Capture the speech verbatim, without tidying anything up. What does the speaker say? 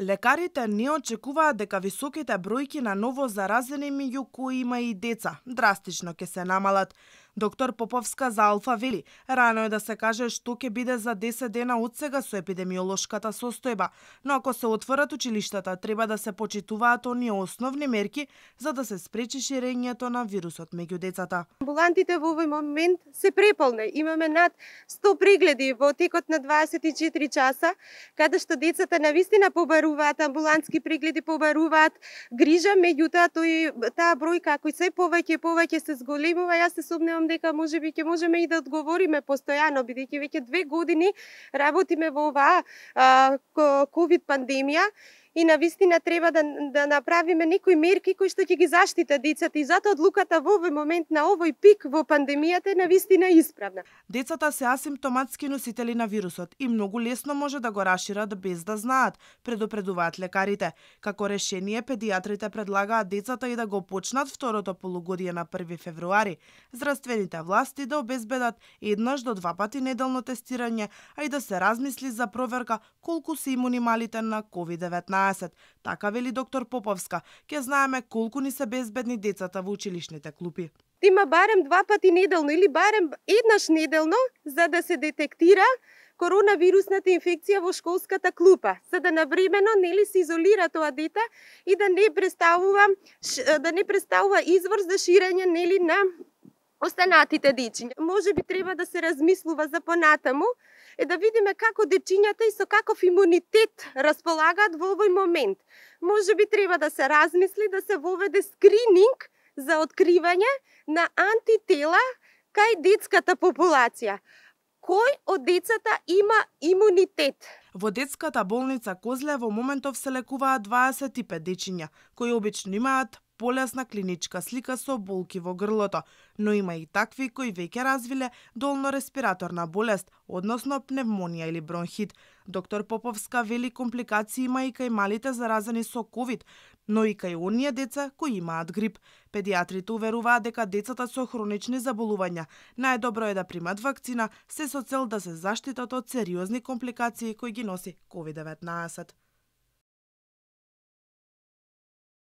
Лекарите не очекуваат дека високите бројки на ново заразени, меѓу кои има и деца, драстично ќе се намалат. Доктор Поповска за Алфа вели, рано е да се каже што ќе биде за десет дена од сега со епидемиолошката состојба, но ако се отворат училиштата, треба да се почитуваат оние основни мерки за да се спречи ширењето на вирусот меѓу децата. Амбулантите во овој момент се преполни. Имаме над сто прегледи во текот на дваесет и четири часа, каде што децата навистина побаруваат, амбулантски прегледи побаруваат грижа, меѓутоа тој таа бројка кој се повеќе и повеќе се зголемува, јас се сомневам дека можеби ќе можеме и да одговориме постојано, бидејќи веќе две години работиме во оваа ковид пандемија. И навистина треба да, да направиме некои мерки кои што ќе ги заштита децата и затоа одлуката во овој момент на овој пик во пандемијата е навистина исправна. Децата се асимптоматски носители на вирусот и многу лесно може да го рашират без да знаат, предупредуваат лекарите. Како решение, педијатрите предлагаат децата и да го почнат второто полугодие на први февруари. Здравствените власти да обезбедат еднаш до два пати неделно тестирање, а и да се размисли за проверка колку се имуни малите на ковид деветнаесет. Така вели доктор Поповска, ќе знаеме колку ни се безбедни децата во училишните клупи. Има барем два пати неделно или барем еднаш неделно за да се детектира коронавирусната инфекција во школската клупа, за да навремено нели се изолира тоа дете и да не представува да не представува извор за ширење нели на останатите дечиња. Можеби треба да се размислува за понатаму е да видиме како дечињата и со каков имунитет располагаат во овој момент. Можеби треба да се размисли да се воведе скрининг за откривање на антитела кај детската популација. Кој од децата има имунитет? Во детската болница Козле во моментов се лекуваат дваесет и пет дечиња, кои обично имаат полесна клиничка слика со болки во грлото, но има и такви кои веќе развиле долно-респираторна болест, односно пневмонија или бронхит. Доктор Поповска вели компликации има и кај малите заразени со ковид, но и кај оние деца кои имаат грип. Педијатрите уверуваат дека децата со хронични заболувања најдобро е да примат вакцина, се со цел да се заштитат од сериозни компликации кои ги носи ковид деветнаесет.